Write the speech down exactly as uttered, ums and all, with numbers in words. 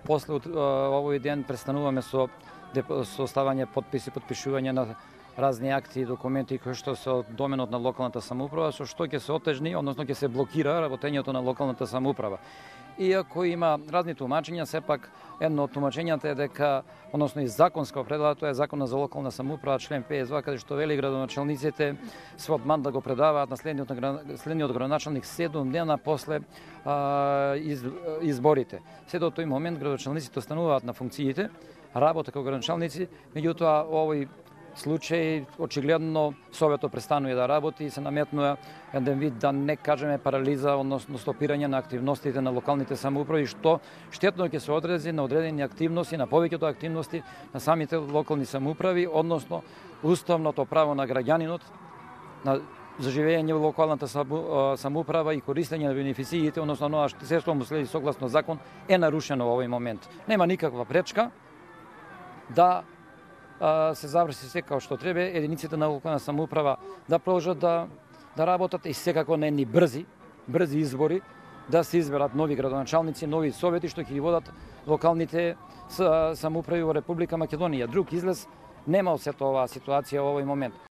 после овој ден престануваме со со ставање подписи, подпишување на разни акти и документи кои што се од доменот на локалната самоуправа, со што ќе се отежни, односно ќе се блокира работењето на локалната самоуправа. Иако има разни тумачења, сепак едно од тумачењата е дека, односно и законска определба, тоа е Законот за локална самоуправа, член петдесет и два, каде што вели градоначалниците свод мандат да го предаваат на следниот, следниот градоначалник седум дена после а, из, изборите. Се до тој момент градоначалниците остануваат на функциите, работа како градоначалници, меѓутоа овој случај очигледно Советот престанува да работи и се наметнува еден вид, да не кажеме, парализа, односно стопирање на активностите на локалните самоуправи, што штетно ќе се одрази на одредени активности, на повеќето активности на самите локални самоуправи, односно уставното право на граѓанинот на за живење во локалната самоуправа и користење на бенефициите, односно оноа што се што му следи согласно закон, е нарушено во овој момент. Нема никаква пречка да се заврши се како што треба, единиците на локална самоуправа да продолжат да да работат и секако на едни брзи, брзи избори, да се изберат нови градоначалници, нови совети што ќе ги водат локалните самоуправи во Република Македонија. Друг излез нема од сета оваа ситуација во овој момент.